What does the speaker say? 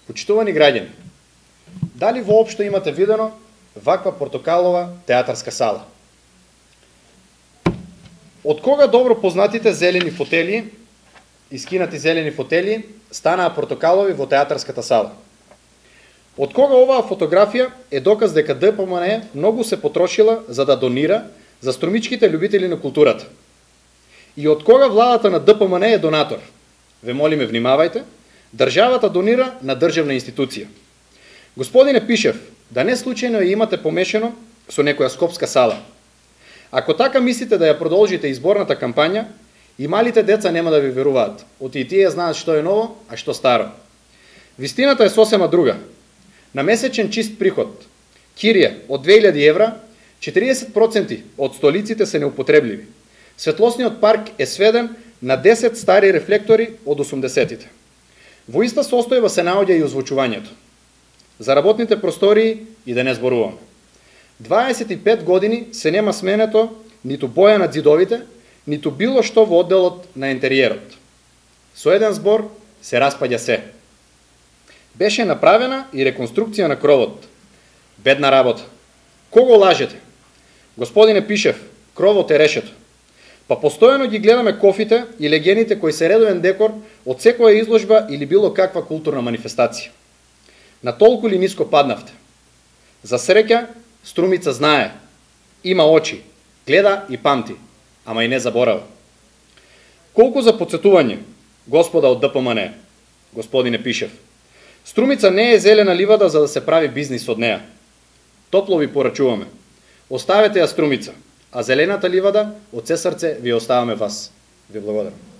Почитувани граѓани, дали воопшто имате видено ваква портокалова театарска сала? Од кога добро познатите зелени фотели, искинати зелени фотели, станаа портокалови во театарската сала? Од кога оваа фотографија е доказ дека ДПМН многу се потрошила за да донира за струмичките љубители на културата? И од кога владата на ДПМН е донатор? Ве молиме, внимавајте, државата донира на државна институција. Господине Пишев, да не случајно ја имате помешано со некоја скопска сала. Ако така мислите да ја продолжите изборната кампања, и малите деца нема да ви веруваат, оти и тие знаат што е ново, а што старо. Вистината е сосема друга. На месечен чист приход, кирија од 2000 евра, 40% од столиците се неупотребливи. Светлосниот парк е сведен на 10 стари рефлектори од 80-тите. Во иста состојба се наоѓа и озвучувањето. За работните простории и да не зборуваме. 25 години се нема сменето ниту боја на ѕидовите, ниту било што во одделот на интериерот. Со еден збор се распаѓа се. Беше направена и реконструкција на кровот. Бедна работа. Кого лажете? Господине Пишев, кровот е решето. Па постојано ги гледаме кофите и легените кои се редовен декор од секоја изложба или било каква културна манифестација. На толку ли ниско паднавте? За среќа, Струмица знае, има очи, гледа и памти, ама и не заборава. Колку за подсетување, господа од ДПМН, господине Пишев, Струмица не е зелена ливада за да се прави бизнис од неа. Топло ви порачуваме. Оставете ја Струмица, а зелената ливада од се срце ви оставаме вас. Ви благодарам.